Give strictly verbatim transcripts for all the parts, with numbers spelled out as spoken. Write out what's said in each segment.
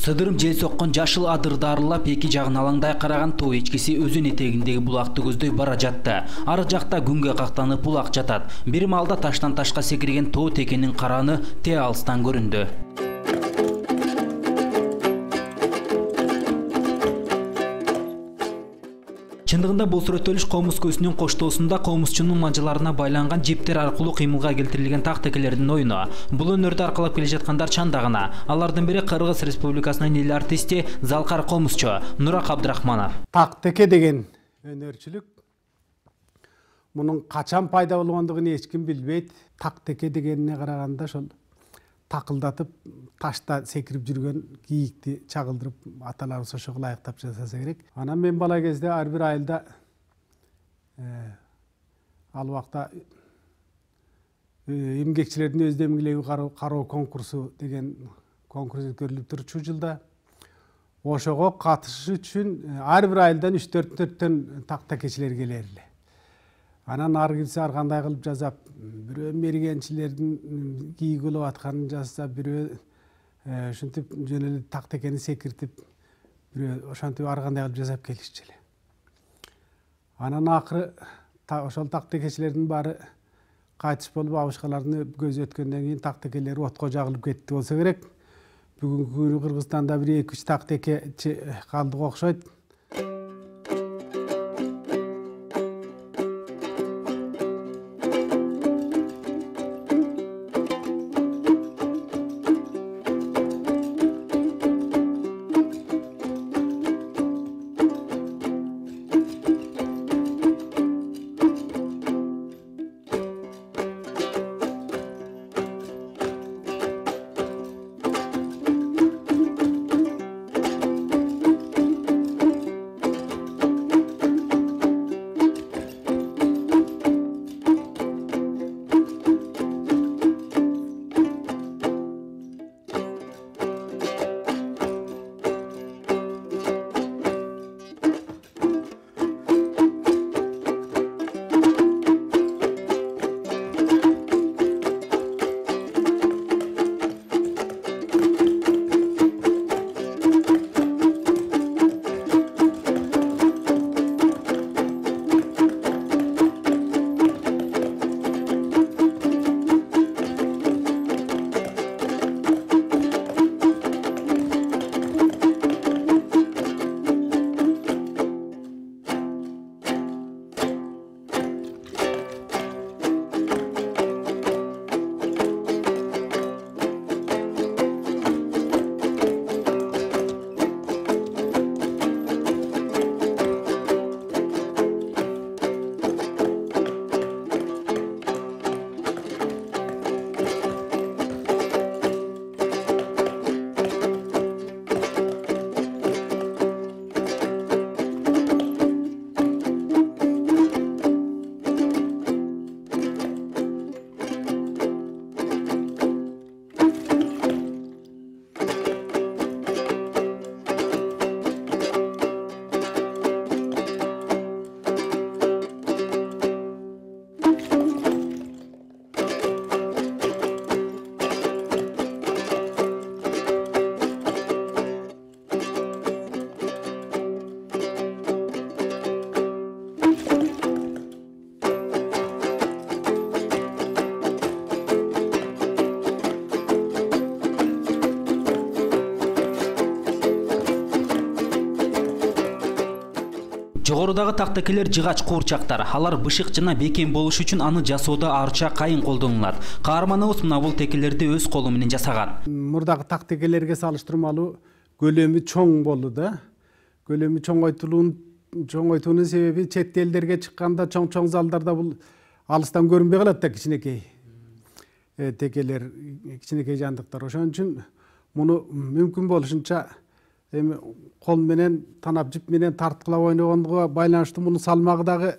Сыдырым жел соккон жашыл адырды арылап эки жагын алаңдай караган тоо эчкиси өзүн этегиндеги булакты көздөй бара жатты. Ары жакта күнгө кактанып булак жатат. Бир маалда таштан ташка секирген тоо текенин караны те алыстан көрүндү. Чындыгында бул сүрөттөлүш комуз көзүнүн коштоосунда комузчунун манжаларына байланган жиптер аркылуу кыймылга келтирилген так текелердин оюну. Бул өнөрдү аркалап келе жаткандар чандагына. Алардын бири Кыргыз Республикасынын эл артисти Залкар комузчу Нурак Абдрахманов. Так теке деген өнөрчүлүк мунун качан пайда болгондугун эч ким билбейт. Так теке дегенине караганда ошол такылдатып ташта секирип жүргөн кийикти чагылдырып аталарыбыз ошого ылайыктап жасаса керек. Анан мен бала кезде ар бир айылда ал убакта эмгекчилердин өз демгилеги кароо конкурсу деген конкурс өткөрүлүп турчу жылда. Ошого катышыш үчүн ар бир айылдан үч төрт төрттөн так текечилер келер эле. Анан ар кирсе ар кандай кылып жасап, бирөө мергенчилердин кийиги болуп атканын жасап, бирөө ушинтип жөн эле так текени секиртип, бирөө ошентип ар кандай кылып жасап келишчү эле. Анан акыры ошол так текечилердин баары кайтыш болуп, абышкалардын көзү өткөндөн кийин так текелер отко жагылып кетти болсо керек. Бүгүнкү күнү Кыргызстанда бир эки үч так текечи калдык окшойт. Жогорудагы так текелер жыгач куурчактар. Алар бышык жана бекем болуш үчүн аны жасоодо арча кайын колдонулат. Каарманыбыз мына бул текелерди өз колу менен жасаган. Мурдагы так текелерге салыштырмалуу көлөмү чоң болду да. Көлөмү чоңойтулуунун чоңойтуунун себеби чет элдерге чыкканда чоң-чоң залдарда бул алыстан көрүнбөй калат да кичинекей текелер, кичинекей жандыктар. Ошон үчүн муну мүмкүн болушунча эми кол менен танап жип менен тарткылап ойногондуга байланыштуу мунун салмагы дагы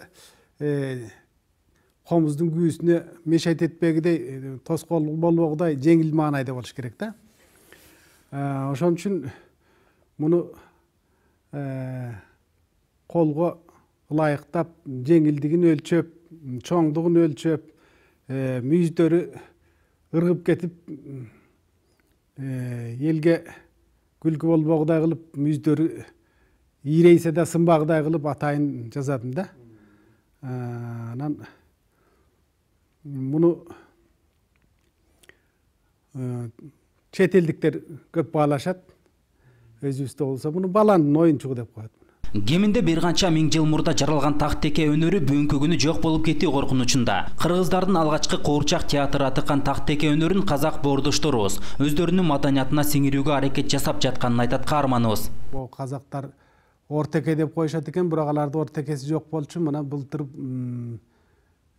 комуздун күүсүнө мешайт этпегидей, тоскоол болбогудай жеңил маанайда болуш керек да. Ошон үчүн муну колго ылайыктап, жеңилдигин өлчөп, чоңдугун өлчөп, мүйүздөрү ыргып кетип элге күлкү болбогудай кылып мүздөрү ийрейсе да сынбагыдай кылып атайын жазадым да. Анан муну чет элдиктер көп баалашат. Өзүбүздө болсо муну баланын оюнчугу деп коет. Кеминде бир канча миң жыл мурда жаралган Тактеке өнөрү бүгүнкү күнү жок болуп кетүү коркунучунда. Кыргыздардын алгачкы куурчак театры атыкан Тактеке өнөрүн казак боордошторубуз өздөрүнүн маданиятына сиңирүүгө аракет жасап жатканын айтат каарманыбыз. Бул казактар ортеке деп коюшат экен, бирок аларды ортекеси жок болчу. Мына былтыр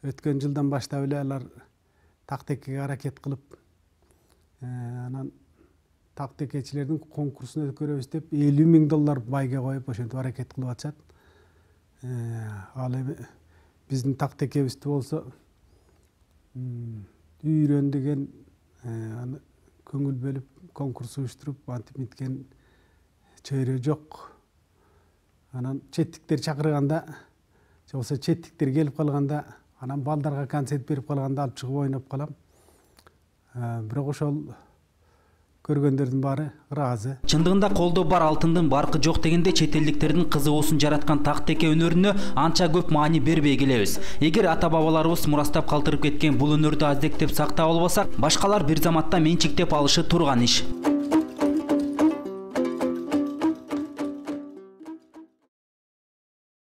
өткөн жылдан баштап эле алар Тактекеге аракет кылып, анан тактекечилердин конкурсун өткөрөбүз деп элүү миң доллар байге коюп ошентип аракет кылып атышат. Ал эми биздин тактекебизди болсо үйрөн деген аны көңүл бөлүп конкурс уюштуруп антип миткен чөйрө жок. Анан четтиктер чакырганда, же болбосо четтиктер келип калганда, анан балдарга концерт берип калганда алып чыгып ойноп калам. Бирок ошол көргөндөрдүн баары ыраазы. Чындыгында колдо бар алтындын баркы жок дегенде чет элдиктердин кызыгуусун жараткан Тактеке өнөрүнө анча көп маани бербей келебиз. Эгер ата бабаларыбыз мурастап калтырып кеткен бул өнөрдү аздектеп сактап албасак, башкалар бир заматта менчиктеп алышы турган иш.